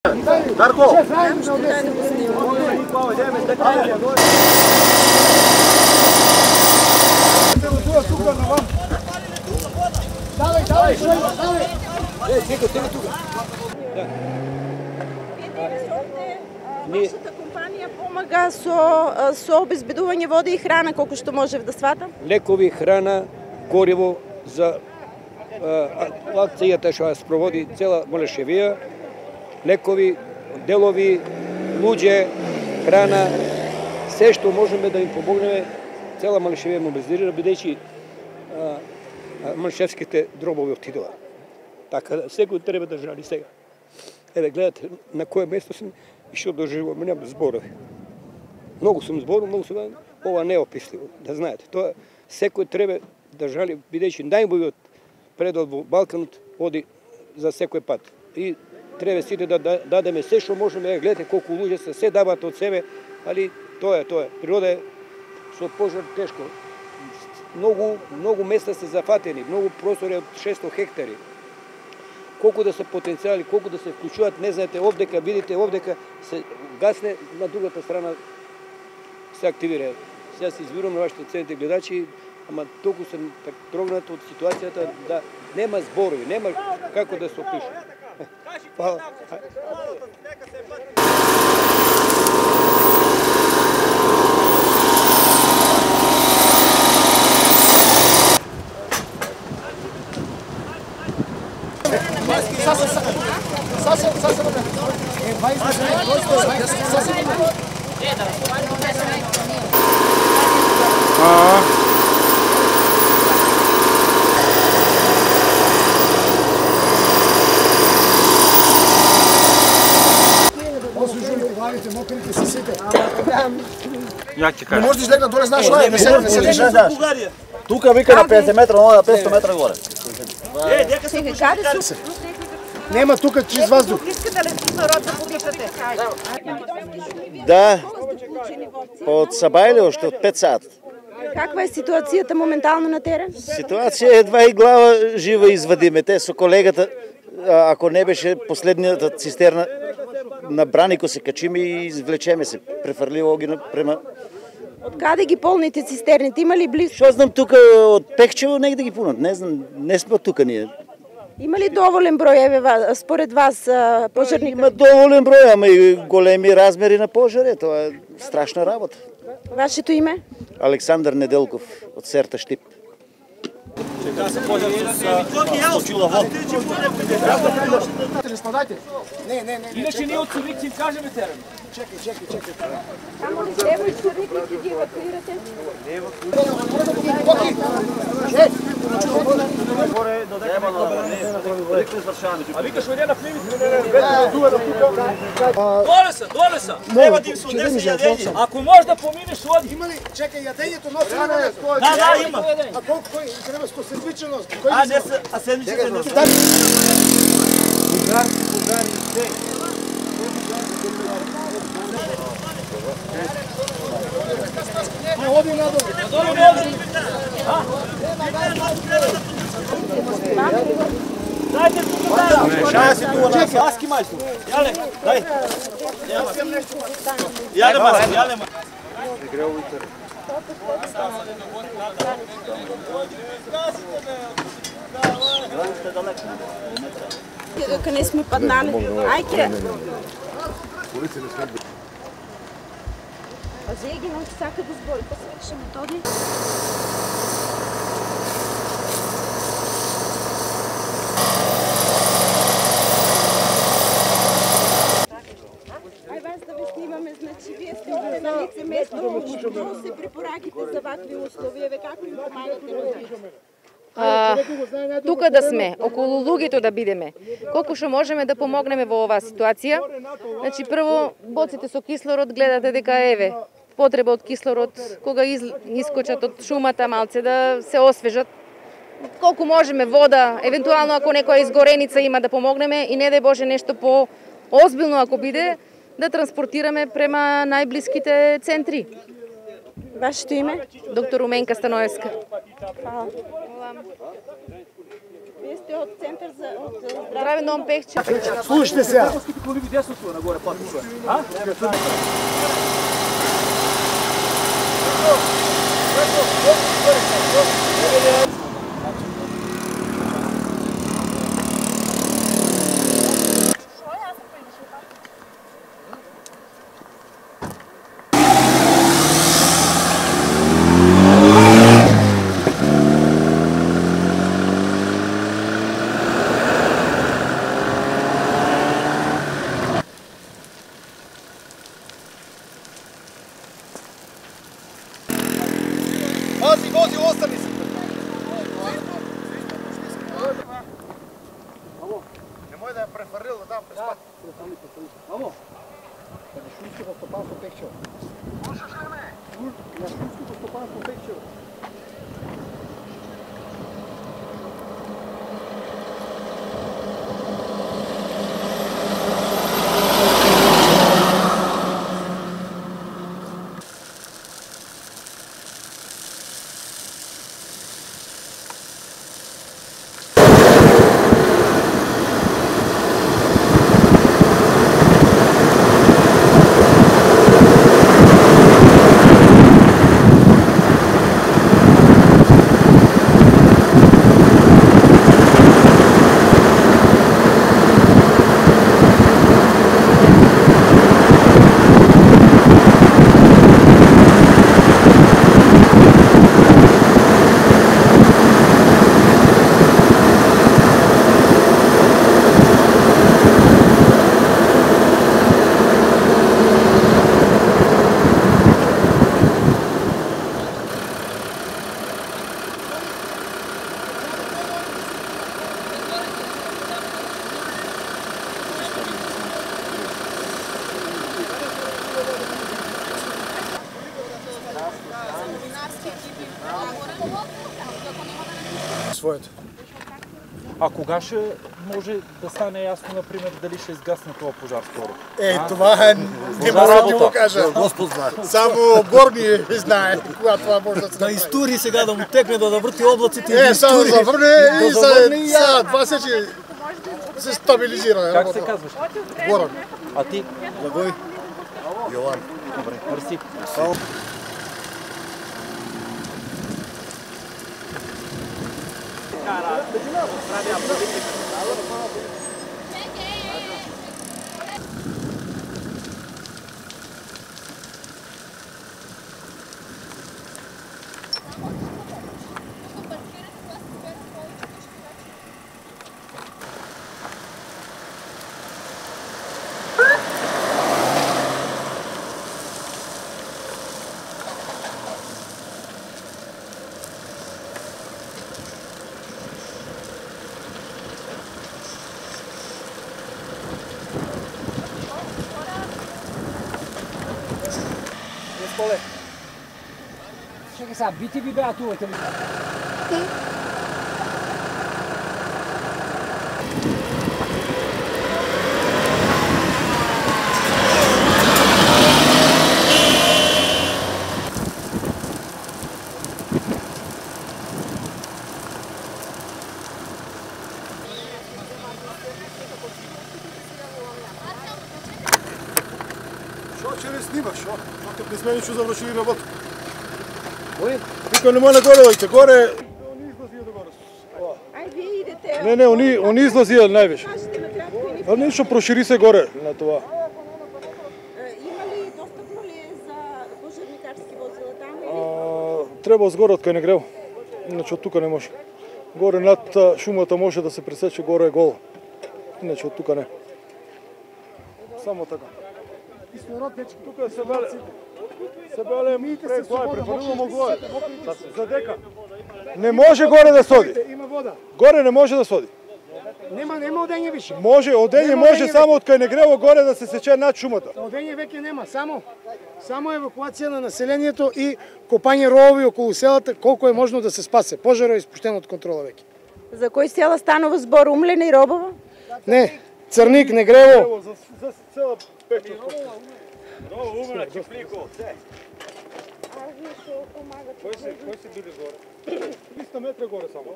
Дарко! Вашата компанија помага со обезбедување вода и храна, колку што можев да сватам? Лекови, храна, гориво за акцијата што ја спроводи цела Малешевија, лекови, делови, луѓе, храна, се што можеме да им помогнеме, цела Малешевија мобилизира, бидејќи малешевските дробови отидоа. Така, секој треба да жали сега. Еве, гледате на кое место сум и што доживувам, немам зборови. Многу сум зборувал, многу сум, ова не е описливо, да знаете. Тоа секој треба да жали, бидејќи најубавиот предод во Балканот оди за секој пат. И треба сите да дадеме се што можеме, гледате колку луѓе се дават од себе, али тоа е. Природа е со пожар тешко. Многу места се зафатени, многу простори од 600 хектари. Колку да се потенцијали, колку да се вклучуваат, не знаете, овдека, видите, овдека се гасне, на другата страна се активира. Сега се извирувам на вашите цените гледачи, ама толку сум трогнат од ситуацијата да нема зборови, нема како да се опише. Фала. Не можеш да излегна доле, знаеш што е? Не се лежиш. Тука вика на 50 метра, но на 500 метра горе. Нема тука чист воздух. Искате ли кислород да подишате? Да, од Сабајле уште од 5 сат. Каква е ситуацијата моментално на терен? Ситуација едва и глава жива извадиме. Те со колегата, ако не беше последнијата цистерна на Бранико се качиме и извлечеме се. Префрливо ги према... Од каде ги полните цистерните? Има ли близко? Што знам тука од Пехчево негде ги пунат. Не знам, не сме тука ние. Има ли доволен број, еве, според вас, пожарни? Има доволен број, ама и големи размери на пожари. Тоа е страшна работа. Вашето име? Александар Неделков од Серта Штип. Чека се пожар со сточила вода. Не. Иначе ние од Цурик им кажеме терен. Чекај. Само ли Лево и Цурик ли ги евакуирате? Горе до дека не извршаваме. А викаш ојде на пливите. Доле са. Треба да им се однесе јадење. Ако може да поминеш, оди. Има ли? Чекај, јадењето носи ли на тоа? Да, има. А колку кој треба со седмичност? А не се, а седмичните не се. Бугари, се. Оди надолу. Дайте тука. Шаја си тука на Аски мајсто. Јале, дај. Јале мајсто. Дека не сме паднали. Ајке. А Зеги нам сака да збори, па свърши методи. Ај вас да ви снимаме, значи вие сте на лице место, што се препораките за вакви условија, како им помагате на луѓето? Тука да сме, околу луѓето да бидеме. Колку што можеме да помогнеме во оваа ситуација. Значи прво боците со кислород гледате дека еве потреба од кислород кога искочат од шумата малце да се освежат. Колку можеме вода, евентуално ако некоја изгореница има да помогнеме и не дај Боже нешто по озбилно ако биде да транспортираме према најблиските центри. Вашето име? Доктор Руменка Станоевска. Hvala. Вие сте од центар за Здраве Новом Пехче. Слушайте сега. Коли ви десното нагоре патица. А? Вози, остани се. Немој да ја префрлил да дам през пат. Амо. Па не шумското стопанство Пехчево. Слушаш ли ме? На шумското стопанство Пехчево. Своето. А кога ще може да стане ясно, например, дали ще изгасне това пожар скоро? Това не мога да го кажа. Господ знае. Само горни знае кога това може да се Да изтури сега, да му текне, да врти облаците. Само да върне и за два се стабилизира. Как се казваш? Горан. А ти? Благой. Йован. Добре, мерси. Чекай сега, бити ви беа тувате ли? Шо, че не снимах, шо? Шо те сме ничего завршили работа. Вика, нема нагоре, дојте, горе. Они излазија до горе. Ај, вие идете. Не, они излазија највише. Кажете накратко и ни. А нешто прошири се горе на това. Има ли достапно ли е за пожарникарски возила там или? Треба згоре од кај не грев. Иначе од тука не може. Горе над шумата може да се пресече, горе е голо. Иначе од тука не. Само така. Тука се беле. Се беле префрлуваме горе. За дека. Не може горе да соди. Има вода. Горе не може да соди. Нема одење више. Може, одење може само од кај не грево горе да се сече над шумата. Одење веќе нема, само евакуација на населението и копање ровови околу селата, колку е можно да се спасе. Пожарот е испуштен од контрола веќе. За кои села станува збор? Умлена и Робово? Не, Црник, Негрево. За цела Пехчевска. Много умна, Чифлико, се. овие што помагат. Кои се били горе? 300 метра горе само.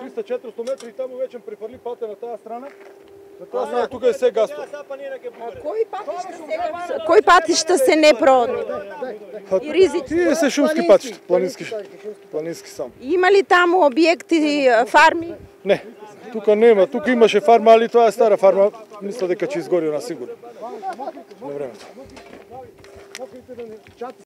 300-400 метри и таму веќе префрли патот на таа страна. На таа страна тука е се гасно. Кои патишта се непроодни? И ризични? Тие се шумски патишта, планински само. Има ли таму објекти, фарми? Не, тука нема, тука имаше фарма, али тоа е стара фарма, мисля дека ќе изгори на сигурно. На времето.